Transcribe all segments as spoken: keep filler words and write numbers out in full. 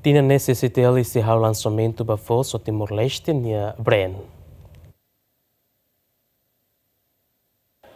Tinan ne'e C C I T L sei halo lansamentu ba foos ho Timor-Leste nia brand.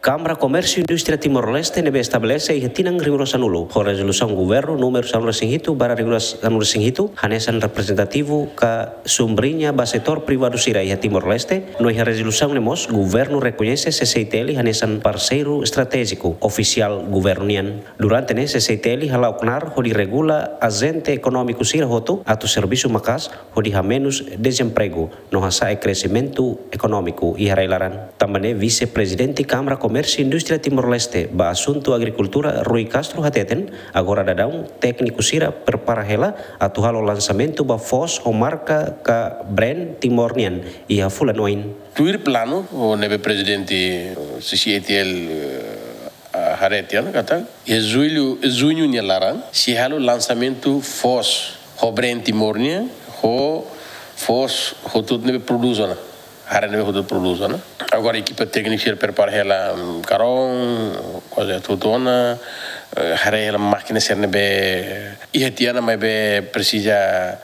Kámara Komérsiu Indústria Timor-Leste ne'ebé estabelese iha tinan rihun rua sanulu, ho rezolusaun governu númeru sanulu-resin-hitu barra rihun rua sanulu-resin-hitu, hanesan reprezentativu ka sumbriña ba setór privadu sira iha Timor-Leste, no iha rezolusaun ne'e mós governu rekoñese C C I T L hanesan parseiru estratéjiku ofisiál governu nian. Durante ne'e C C I T L hala'o knaar hodi regula ajente ekonómiku sira hotu atu servisu maka'as hodi hamenus dezempregu no hasa'e kresimentu ekonómiku iha rai-laran. Tanba ne'e Vise-Prezidente Kámara Komérsiu Indústria Timor-Leste ba asuntu agrikultura Rui Castro hateten, agora daudaun tékniku sira prepara hela atu halo lansamentu ba foos ho marka ka brand Timor nian iha fulan oin. Tuir planu ne'ebé Prezidente C C I T L, eh, ah, haree tiha ona katak iha jullu, juñu nia laran sei halo lansamentu foos ho brand Timor nian, ho foos hotu-hotu ne'ebé prodús ona, hare ne'ebé hotu-hotu prodús ona. Agora ekipa tékniku sira prepara hela, mm, karón, kuaze hotu-hotu ona, eh, haree hela mákina sira ne'ebé iha tiha ona maibé presiza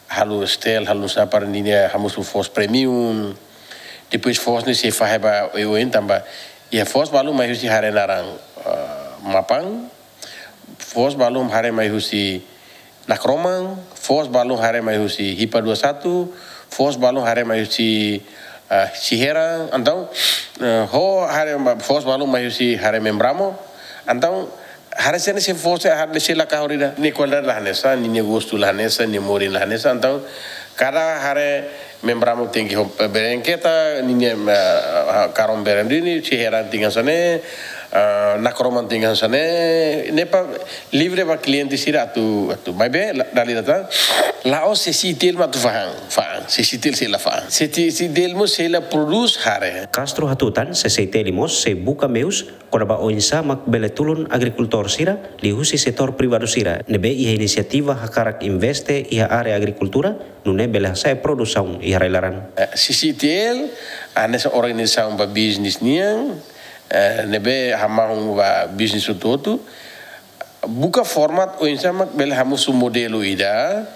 halo stel, halo nusá para ninia hamosu foos premium. Depois foos ne'e sei fahe ba oioin tanba iha foos balun mai husi hare naran, ah, Mapan, foos balun hare mai husi Nakroman, foos balun hare mai husi Hipa dua satu, foos balun hare mai husi, ah, Siheran, entaun, eh, ho hare ma-, foos balun mai husi hare Membramo, entaun, hare sira-ne'e sei foos, hare sira la kahur ida. Nia kualidade la hanesan, nia gostu la hanesan, nia morin la hanesan. Entaun, kada hare Membramo tenke ho, eh, berengketa, ninia, eh, karón beren duni, Siheran tenke hanesan ne'e, eh, Nakroman tenke hanesan ne'e, ne'e para livre ba kliente sira atu, atu. Maibé, la, dala ida tan, la'ós C C I T L mak atu fa'an, fa'an, C C I T L sei la fa'an. C C I T L mós sei la prodús hare. Castro hatutan, C C I T L mós sei buka meius kona-ba oinsá mak bele tulun agrikultór sira liuhusi setór privadu sira ne'ebé iha inisiativa hakarak investe iha área agrikultura, nune'e bele hasa'e produsaun iha rai-laran. Eh, C C I T L, hanesan organizasaun ba bisnis nian, eh, ne'ebé hamahon ba bisnis hotu-hotu, buka forma oinsá mak bele hamosu modelu ida,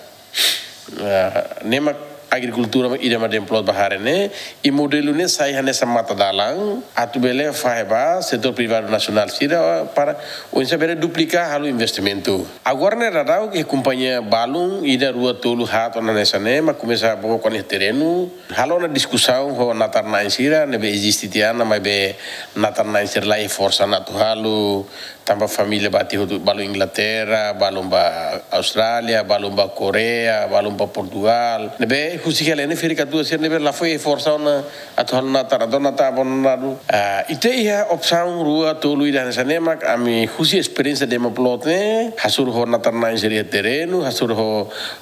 ah, ne'e mak agrikultura ida mak dezenvolve ba hare ne'e, i modelu ne'e sai hanesan matadalan, atu bele fahe ba setór privadu nasionál sira para oinsá bele duplika halo investimentu. Agora ne'e daudaun ke kompañia balun, ida, rua, tolu, haat ona hanesan ne'e, mak komesa book ona iha terrenu, halo ona diskusaun ho natar-na'in sira ne'ebé eziste tiha ona, maibé natar-na'in sira la iha forsa ona atu halo, tanba família bati hotu, balun Inglaterra, balun ba Austrália, balun ba Koreia, balun ba Portugal. Ne'ebé husik hela ne'e ferik-katuas sira ne'ebé la fó forsa ona atu halo natar, entaun natar abandonadu. Ah, ita iha opsaun rua, tolu ida hanesan ne'e mak ami husi esperiénsia Demoplot ne'e, hasoru ho natar-na'in sira iha terrenu, hasoru ho,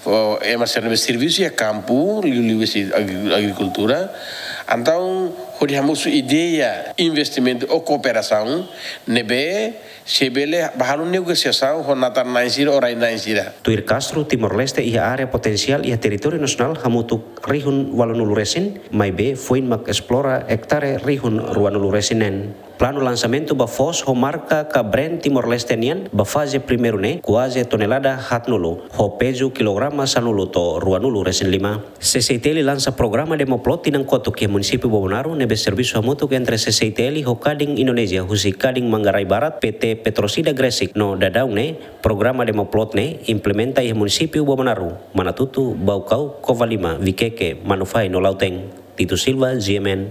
ho ema sira ne'ebé servisu iha kampu, liuliu husi agri-, agrikultura. Entaun, hodi hamosu ideia investimentu ou kooperasaun ne'ebé sei bele bá halo negosiasaun ho natar-na'in sira ou rai-na'in sira. Tuir Castro, Timor-Leste iha área potensiál iha territóriu nasionál hamutuk rihun ualunulu resin, maibé foin mak esplora ektare rihun ruanulu resin neen. Planu lansamentu ba foos ho marka ka brand Timor-Leste nian ba faze primeiru ne'e kuaze tonelada haatnulu, ho pezu kilograma sanulu to'o ruanulu resin lima. C C I T L lansa programa Demoplot tinan kotuk iha munisípiu Bobonaro ne'ebé servisu hamutuk entre C C I T L ho Kadin Indonézia husi Kadin Manggarai Barat, P T Petrosida Gresik, no daudaun ne'e programa Demoplot ne'e implementa iha munisípiu Bobonaro, Manatuto, Baucau, Covalima, Viqueque, Manufahi no Lautém. Tito Silva, G M N.